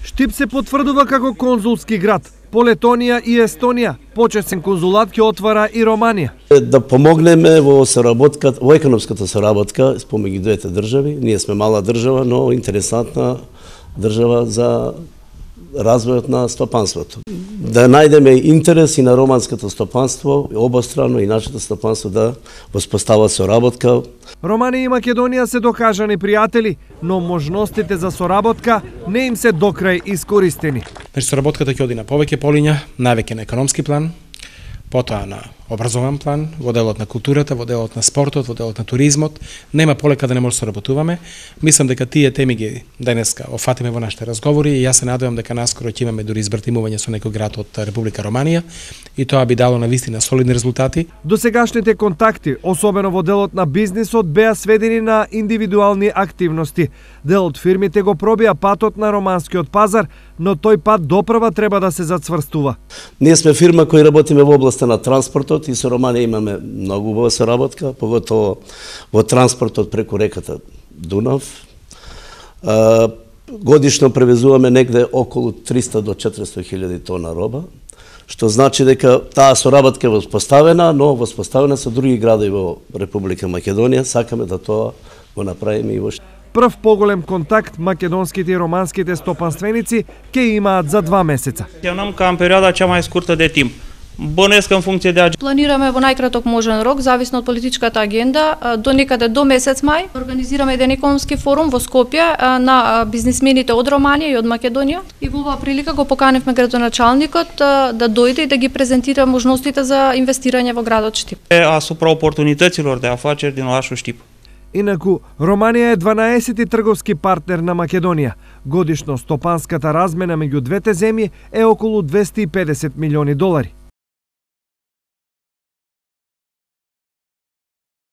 Штип се потврдува како конзулски град. По Летонија и Естонија почесен конзулат ќе отвара и Романија. Да помогнеме во соработката, во економската соработка помеѓу двете држави. Ние сме мала држава, но интересантна држава за развојот на стопанството. Да најдеме интерес и на романското стопанство, обострано и нашето стопанство да воспостават соработка. Романија и Македонија се докажани пријатели, но можностите за соработка не им се докрај искористени. Соработката ќе оди на повеќе полиња, највеќе на економски план, потоа на образован план, во делот на културата, во делот на спортот, во делот на туризмот. Нема полека да не може да соработуваме. Мислам дека тие теми ги денеска офатиме во нашите разговори и јас се надевам дека наскоро ќе имаме дури избратимување со некој град од Република Романија и тоа би дало навистина солидни резултати. Досегашните контакти, особено во делот на бизнисот, беа сведени на индивидуални активности. Дел од фирмите го пробија патот на романскиот пазар, но тој пат допрва треба да се зацврстува. Ние сме фирма која работиме во областа на транспортот и со Романија имаме многу убава соработка, поготово во транспортот преку реката Дунав. Годишно превезуваме негде околу 300 до 400 хиljadi тона роба, што значи дека таа соработка е воспоставена, но воспоставена со други градови во Република Македонија. Сакаме да тоа го направиме и во Прв поголем контакт македонските и романските стопанственици ќе имаат за 2 месеца. Планираме кам периода cea mai scurtă de timp. Bănuiesc în funcție de Планираме во најкраток можен рок, зависно од политичката агенда, до некаде до месец мај. Организираме еден економски форум во Скопје на бизнисмените од Романија и од Македонија. И во оваа прилика го поканивме градоначалникот да дојде и да ги презентира можностите за инвестирање во градот Штип. Asupra oportunităților de afaceri din orașul Штип. Инаку, Романија е 12-ти трговски партнер на Македонија. Годишно стопанската размена меѓу двете земји е околу $250 милиони.